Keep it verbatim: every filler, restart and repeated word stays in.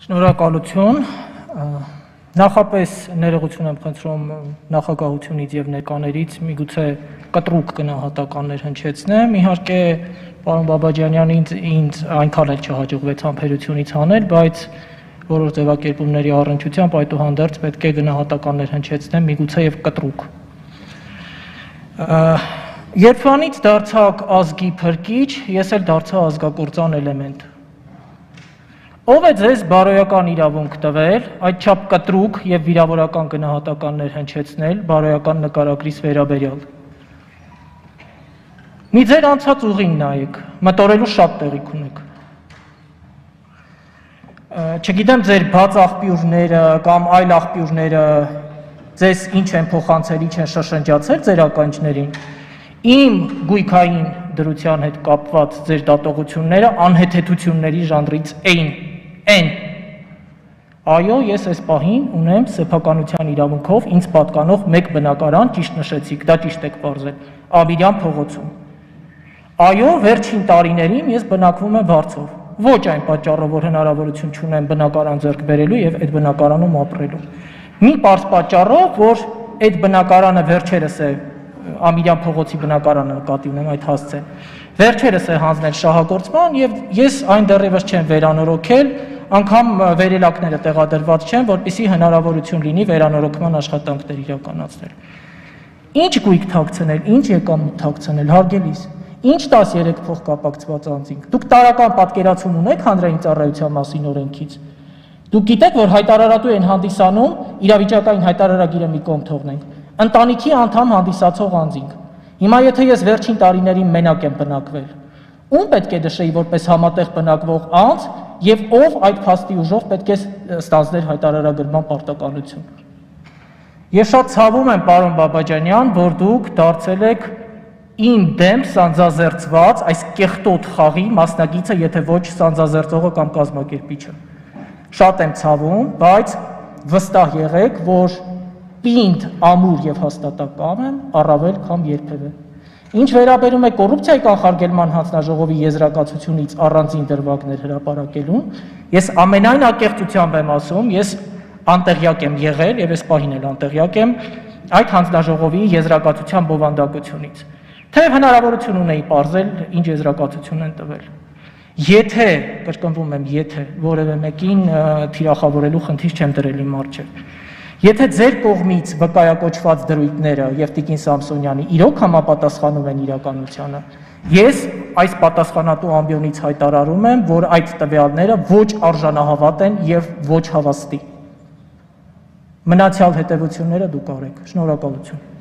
Շնորհակալություն, նախապես ներողություն եմ խնդրում նախագահությունից եւ ներկաներից, միգուցե կտրուկ գնահատականներ հնչեցնեմ, իհարկե պարոն Բաբաջանյանին ինձ այնքան էլ չհաջողվեց համբերությունից հանել, բայց որոշ ձևակերպումների առնչությամբ այդուհանդերձ պետք է գնահատականներ հնչեցնեմ, միգուցե եւ կտրուկ։ Երբանից դարձակ ազգի փրկիչ, ես էլ դարձա ազգակործան էլեմենտ։ Ով է ձեզ բարոյական իրավունք տվել, այդչափ կտրուկ եւ վիրավորական գնահատականներ հնչեցնել բարոյական նկարագրիս վերաբերյալ։ Մի ձեր անցած ուղին նայեք, մտորելու շատ տեղիք ունեք։ Չգիտեմ ձեր բաց աղբյուրները կամ այլ աղբյուրները ձեզ ինչ են փոխանցել, ինչ են շշնջացել ձեր ականջներին։ Իմ գույքային դրության հետ կապված ձեր դատողությունները անհեթեթությունների ժանրից էին։ Են։ Այո, ես այս պահին ունեմ սեփականության իրավունքով ինձ պատկանող մեկ բնակարան, ճիշտ նշեցիք, դա ճիշտ եք պարզել, Աբիրյան փողոցում։ Այո, վերջին տարիներին ես բնակվում եմ Վարձով, ոչ այն պատճառով, որ հնարավորություն չունեմ բնակարան ձեռք բերելու եւ այդ բնակարանում ապրելու։ Մի պարզ պատճառով, որ այդ բնակարանը վերջերս է Ամիրյան փողոցի բնակարանը նկատի ունեմ այդ հասցեն։ Վերջերս է հանձնել շահագործման եւ ես այն դեռևս չեմ վերանորոգել, անգամ վերելակները տեղադրված չեն, որպեսզի հնարավորություն լինի վերանորոգման աշխատանքներ իրականացնել։ Ինչ գույք թաքցնել, ինչ եկամուտ թաքցնել, հարգելիս, ինչ տասներեք փող կապակցված անձինք։ Դուք տարական պատկերացում ունեք հանրային ծառայության մասին օրենքից։ Դուք գիտեք, որ հայտարարատու են հանդիսանում, իրավիճակային հայտարարագիրը մի կողմ թողնենք, ընտանիքի անդամ հանդիսացող անձինք։ Հիմա եթե ես վերջին տարիներին մենակ եմ բնակվել, ում պետք է նշեի որպես համատեղ բնակվող անձ եւ ով այդ փաստի ուժով պետք է ստանձներ հայտարարագրման պարտականություն։ Ես շատ ցավում եմ, պարոն Բաբաջանյան, որ դուք դարձել եք իմ դեմ սանձազերծված այս կեղտոտ խաղի մասնագիծը, եթե ոչ սանձազերծողը կամ կազմակերպիչը։ Շատ եմ ցավում, բայց վստահ եղեք, որ պինդ, ամուր եւ հաստատակամ եմ առավել քան երբևէ։ Ինչ վերաբերում է կոռուպցիայի կանխարգելման հանձնաժողովի եզրակացությունից առանձին դրվագներ հրապարակելուն, ես ամենայն ակեղծությամբ եմ ասում, ես անտեղյակ եմ եղել եւ այս պահին էլ անտեղյակ եմ այդ հանձնաժողովի եզրակացության բովանդակությունից։ Թեև հնարավորություն ունեի պարզել, ինչ եզրակացություն են տվել։ Եթե, կրկնվում եմ, եթե որևէ մեկին թիրախավորելու խնդիր չեմ դրել իմ առջև։ Եթե ձեր կողմից վկայակոչված դրույթները եւ Տիկին Սամսոնյանի իրոք համապատասխանում են իրականությանը, ես այս պատասխանատու ամբիոնից հայտարարում եմ, որ այդ տվյալները ոչ արժանահավատ են եւ ոչ հավաստի։ Մնացյալ հետեւությունները դուք արեք։ Շնորհակալություն։